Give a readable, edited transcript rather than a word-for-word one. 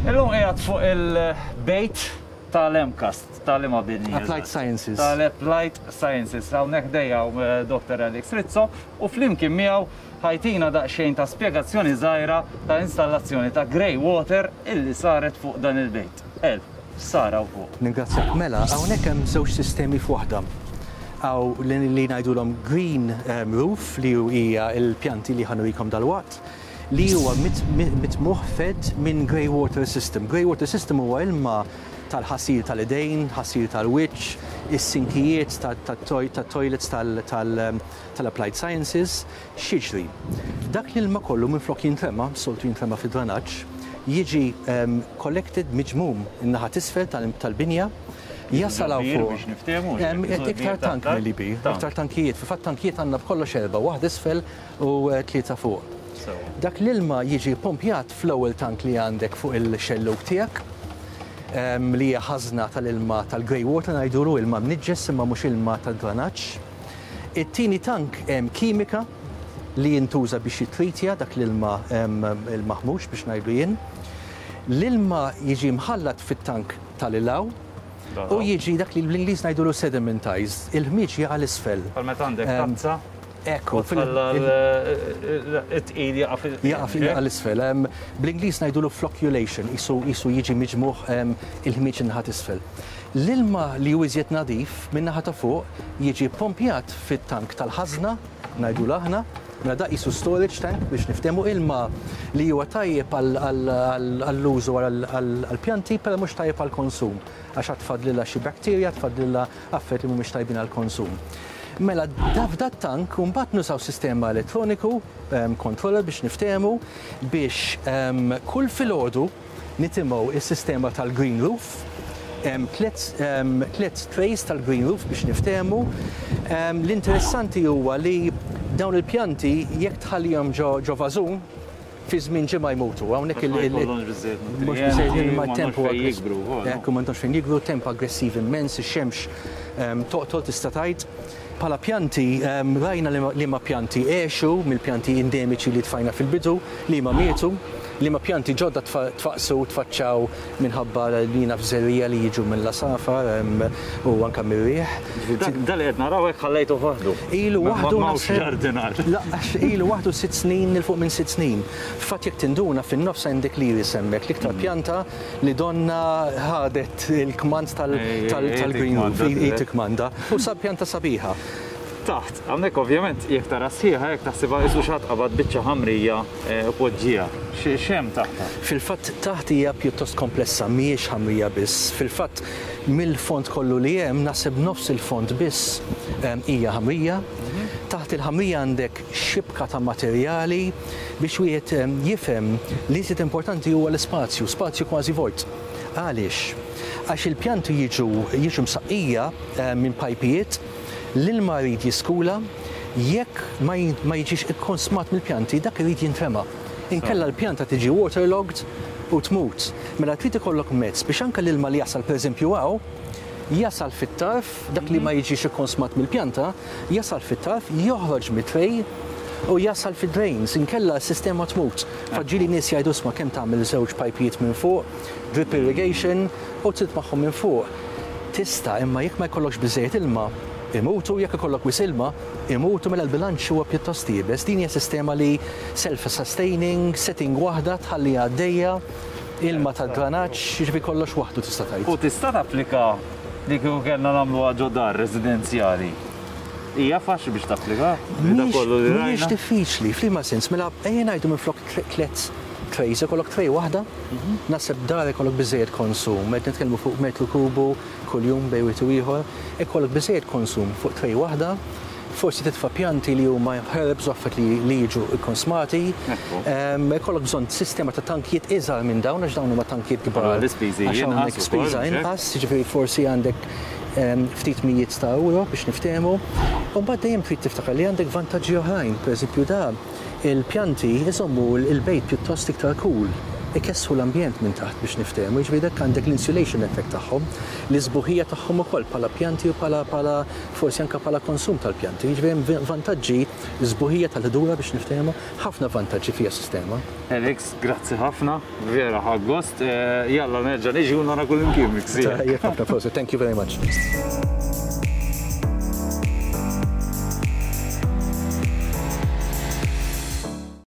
Illum qiegħed fuq il-bejt tal-MCAST, tal-liema bini? Applied Sciences. Tal-Applied Sciences. Hawnhekk ħdejja hawn eh, Dr. Alex Rizzo u flimkien miegħu ħajtina daqsxejn ta' spjegazzjoni żgħira ta' installazzjoni ta' grey water illi saret fuq dan il-bejt. El, x'sar hawn fuq? Ningrazzjak. Mela, hawnhekk hemm żewġ sistemi f'waħda. Hawn li ngħidulhom green eh, roof li hija l-pjanti li ħa nurikom dalwaqt li huwa mitmugħ fed minn grey water system. Grey water system huwa ilma tal-ħasil tal-idejn, ħasil tal-wiċċ, is-sinkijiet tat-toilets tal-Applied Sciences, x'jiġri? Dak l-ilma kollu minflok jintrema, soltu jintrema fid-dranaġġ, jiġi collected miġmum in-naħa t'isfel tal-binja, jasal hawn fuq. Biex niftehmu. Iktar tank milli bir, iktar tankijiet. Fil-fatt tankijiet għandna b'kollox erbgħa, waħda isfel u tlieta fuq. Dak l-ilma jiġi ppompjat fl-ewwel tank li għandek fuq il-xellug tiegħek, li hija ħażna tal-ilma tal-grey water ngħidulu, ilma mniġġes imma mhux ilma tad-dranaġġ. It-tieni tank hemm kimika li jintuża biex jittritja dak l-ilma il-maħmuġ biex ngħidlu jien. L-ilma jiġi mħallat fit-tank tal-ilaw u jiġi dak li bl-Ingliż ngħidulu sedimentized, il-ħmieġ jaqa' 'l isfel. Bħal meta għandek tazza Ekku. U tħalla t-tqil jaqa' fil. Jaqa' 'l isfel. Bl-Ingliż ngħidulu flocculation, qisu jiġi miġmugħ il-ħmieġ in-naħa t'isfel. L-ilma li hu iżjed nadif min-naħa ta' fuq jiġi ppompjat fit-tank tal-ħażna, ngħidulu aħna, mela da qisu storage tank biex niftehmu, ilma li huwa tajjeb għall-użu għall-pjanti però mhux tajjeb għall-konsum għax għad tfadlilha xi bacteria, tfadlilha affarijiet li mhumiex tajbin għall-konsum. Mela f'dat-tank mbagħad nużaw sistema elettroniku, controller biex niftehmu, biex kull filgħodu nitimgħu s-sistema tal-green roof. Hemm tliet trays tal-green roof biex niftehmu. L-interessanti huwa li dawn il-pjanti jekk tħallihom ġo vażun, fi żmien ġimgħa jmutu. Hawnhekk il. Għax ma jkollhomx biżżejjed nutrijenti. Mhux biżżejjed ilma, u temp m'għandhomx fejn jikbru wkoll. Ekku, m'għandhomx fejn jikbru, temp aggressiv immens, ix-xemx toqtol tista' tgħid. Bħala pjanti, rajna liema pjanti għexu mill-pjanti endemiċi li tfajna fil-bidu, liema mietu, liema pjanti ġodda tfaqqsu u tfaċċaw minħabba li naf żerriegħa li jiġu mill-għasafar u anke mir-riħ. Ġifieri dan li qed naraw hekk ħallejtuh waħdu? Ilu waħdu. M'hawnx ġardinar. La, għax ilu waħdu sitt snin, 'il fuq minn sitt snin. F'fatt jekk tinduna fin-nofs għandek l-iris hemmhekk, l-iktar pjanta li donnha ħadet il-kmand tal-green roof, hi tikkmanda. U pjanta sabiħa. Taħt, hawnhekk ovvjament jekk tara sħiħa hekk taħsibha qisu xi ħadd qabad biċċa ħamrija u poġġieha. X'hemm taħtha? Fil-fatt taħt hija pjuttost komplessa, mhijiex ħamrija biss. Fil-fatt mill-fond kollu li hemm naħseb nofs il-fond biss hija ħamrija. Taħt il-ħamrija għandek xibka ta' materjali biex wieħed jifhem li iżjed importanti huwa l-ispazju, spazju kważi vojt. Għaliex? Għax il-pjanti jiġu jiġu msaqqija minn pajpijiet L-ilma jrid jiskula, jekk ma jiġix ikkonsmat mill-pjanti dak irid jintrema. Inkella l-pjanta tiġi waterlogged u tmut. Mela trid ikollok mezz biex anke l-ilma li jasal pereżempju hawn, jasal fit-tarf, dak li ma jiġix ikkonsmat mill-pjanta, jasal fit-tarf, joħroġ mit-tray u jasal fid-drains, inkella s-sistema tmut. Fatt ġieli nies jgħidu isma' kemm tagħmel żewġ pajpijiet minn fuq, drip irrigation, u trid magħhom minn fuq. Tista', imma jekk ma jkollokx biżżejjed ilma, imutu, jekk ikollok wisq ilma, imutu, mela l-bilanċ huwa pjuttost iebes. Din hija sistema li self-sustaining, setting waħda tħalliha għaddejja, ilma tad-dranaġġ, jiġifieri kollox waħdu tista' tgħid. U tista' tapplika li kieku kellna nagħmluha ġo dar residenzjali? Hija faċli biex tapplika? Dak kollu li rajna? Mhijiex diffiċli, f'liema sens? Mela ejja ngħidu minflok tliet trays ikollok tray waħda, naħseb dar ikollok biżżejjed konsum, qed nitkellmu fuq metru kubu kuljum bejn wieħed u ieħor, ikollok biżżejjed konsum fuq tray waħda, forsi titfa' pjanti li huma herbs u affarijiet li jiġu kkonsmati, ikollok bżonn sistema ta' tankijiet iżgħar minn dawn għax dawn huma tankijiet kbar. L-ispiżi inqas. Spiża inqas, jiġifieri forsi għandek ftit mijiet ta' euro biex niftehmu. U mbagħad dejjem trid tiftakar li għandek vantaġġi oħrajn, pereżempju da il-pjanti jżommu l-bejt pjuttost iktar cool. Ikessħu l-ambjent minn taħt biex niftehmu, jiġifieri dak għandek l-insulation effect tagħhom, l-isbuħija tagħhom ukoll bħala pjanti u bħala bħala forsi anke bħala konsum tal-pjanti. Jiġifieri hemm vantaġġi, sbuħija tal-ħdura biex niftehmu, ħafna vantaġġi fiha s-sistema. Alex, grazzi ħafna, vera ħadt gost. Jalla nerġa' niġi u nara kullimkien miksija. Tajjeb ħafna, prosit, thank you very much.